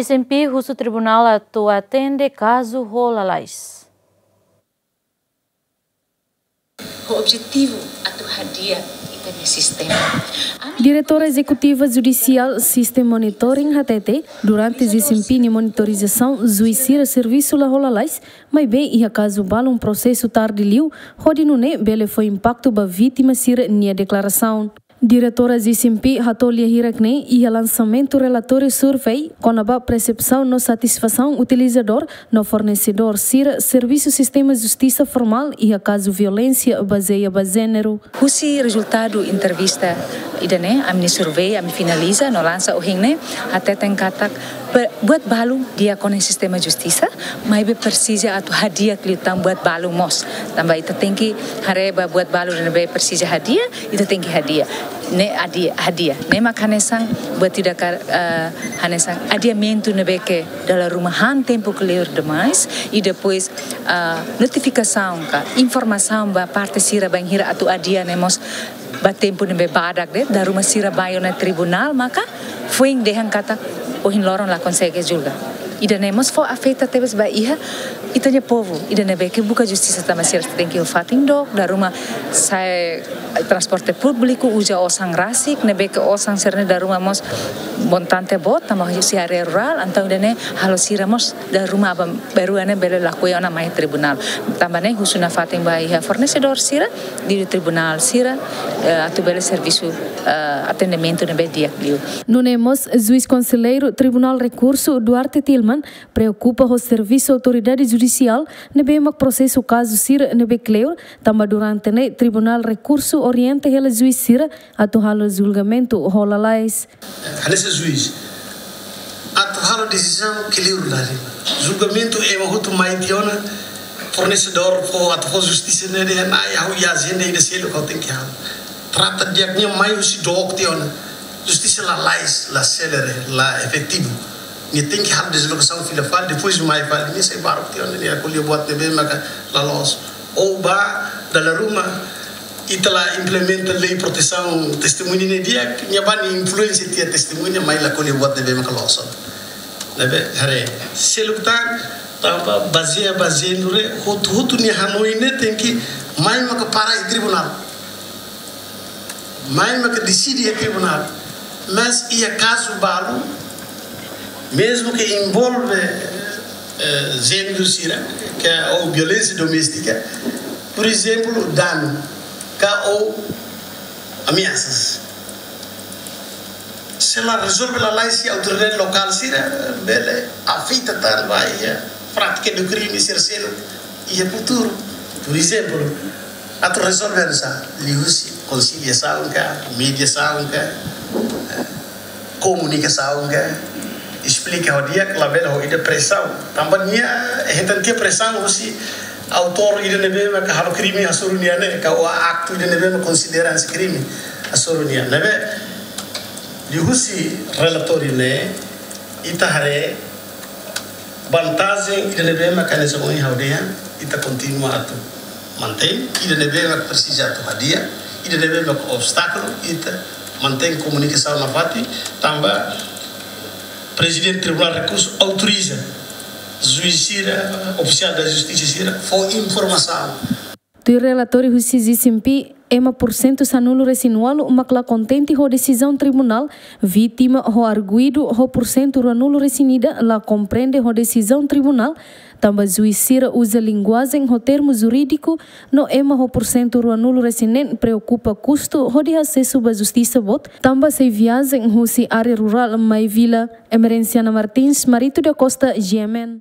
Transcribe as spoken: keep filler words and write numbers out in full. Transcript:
S M P husu tribunál atu atende kazu ho lalais. Ho objetivu atu hadi'a ita-nia sistema. Diretora Ezekutiva Judisiál System Monitoring hatete, durante S M P nia monitorizasaun, juís sira servisu la ho lalais, maibé iha kazu balun prosesu tarde liu, hodi nune'e bele fó impaktu ba vítima sira-nia deklarasaun. Diretora S M P hato'o lia hirak-ne'e iha lansamentu relatóriu survey kona-ba persepsaun no satisfasaun utilizadór no fornesedór sira servisu sistema justisa formál iha kazu violénsia bazeia ba jéneru. Husi rezultadu entrevista ida-ne'e, ami-nia survey, ami finaliza no lansa ohin ne'e, hateten katak, be-, buat balu di'ak ona iha sistema justisa, maibé presiza atu hadi'a liután buat balu mós. Tanba ita tenke haree ba buat balu ne'ebé presiza hadi'a, ita tenke hadi'a. Ne'e hadi'a, hadi'a. Ne'e mak hanesan buat ida ka, eh, hanesan adiamentu ne'ebé ke dala ruma han tempu kleur demais, i depois, eh, notifikasaun ka informasaun ba parte sira bainhira atu hadi'a ne'e mós ba tempu ne'ebé badak de'it, dala ruma sira bá ona tribunál, maka foin dehan katak ohin loron la konsege julga. Ida-ne'e mós fó afeta tebes ba iha ita-nia povu, ida ne'ebé ke buka justisa tanba sira tenke iha fatin dook, dala ruma sa'e transporte públiku, uza osan rasik, ne'ebé ke osan sira-ne'e dala ruma mós montante boot, tanba husi área rurál, entaun ida-ne'e halo sira mós dala ruma aban-bainrua ne'e bele lakohi ona mai tribunál. Tanba ne'e husu nafatin ba iha fornesedór sira, liuliu tribunál sira, eh, atu bele servisu, eh, atendimentu ne'ebé di'ak liu. Nune'e mós, juís konselleiru Tribunál Rekursu Duarte Tilman preokupa ho servisu autoridade judisiál ne'ebé mak prosesu kazu sira ne'ebé kleur, tanba durante ne'e Tribunál Rekursu orienta hela juís sira atu halo julgamentu ho lalais. Hanesan juís atu halo desizaun kleur dali. Julgamentu ema hotu mai tiha ona, fornesedór fó atu fó justisa ne'e dehan, "Ai, ha'u iha ajenda ida seluk ha'u tenke halo." Trata di'ak, nia mai husi dook tiha ona. Justisa lalais, la selere, la efetivu. Nia tenke halo deslokasaun fila fali, depois mai fali, nia sai baruk tiha ona, nia ko'alia buat ne'ebé maka la loos. Ou ba dala ruma ita la implementa lei protesaun testemuña ne'e di'ak, nia bá nia influénsia tiha testemuña, mai la ko'alia buat ne'ebé maka loos. Ne'ebé haree, seluk tan, tanba bazeia ba jéneru, hotu-hotu nia hanoin ne'e tenke mai maka para iha tribunál. Mai maka deside iha tribunál. Mas iha kazu balu, mezmu ke envolve, eh, jéneru sira, ke, ou violénsia doméstika, por ezemplu, danu, ka ou ameasas. Se la rezolve lalais, se autoridade lokál sira bele afeta tan ba iha prátika do krime sira seluk iha futuru. Por ezemplu, atu rezolve hanesan, liuhusi konsiliasaun ka, mediasaun ka, eh, komunikasaun ka, esplika ho di'ak, labele ho ida presaun. Tanba nia hetan tiha presaun husi autór ida ne'ebé maka halo krime hasoru nia ne'e, ka ou aktu ida ne'ebé maka konsidera hanesan krime hasoru nia. Ne'ebé, liuhusi relatóriu ne'e, ita haree vantajen ida ne'ebé maka hanesan ohin ha'u dehan, ita kontinua atu mantein, ida ne'ebé maka presiza atu hadi'a, ida ne'ebé maka obstákulu, ita mantein komunikasaun nafatin, tanba Prezidente Tribunál Rekursu autoriza juís sira, ofisiál da justisa sira, fó informasaun. Tuir relatóriu husi S M P, ema pursentu sanulu-resin-ualu mak la kontente ho desizaun tribunál, vítima ho arguidu ho pursentu ruanulu-resin-ida la komprende ho desizaun tribunál, tanba juís sira uza linguajen ho termu jurídiku, no ema ho pursentu ruanulu-resin-neen preokupa kustu hodi asesu ba justisa boot, tanba sei viajen husi área rurál mai vila. Emerenciana Martins, Marito da Costa, G M N.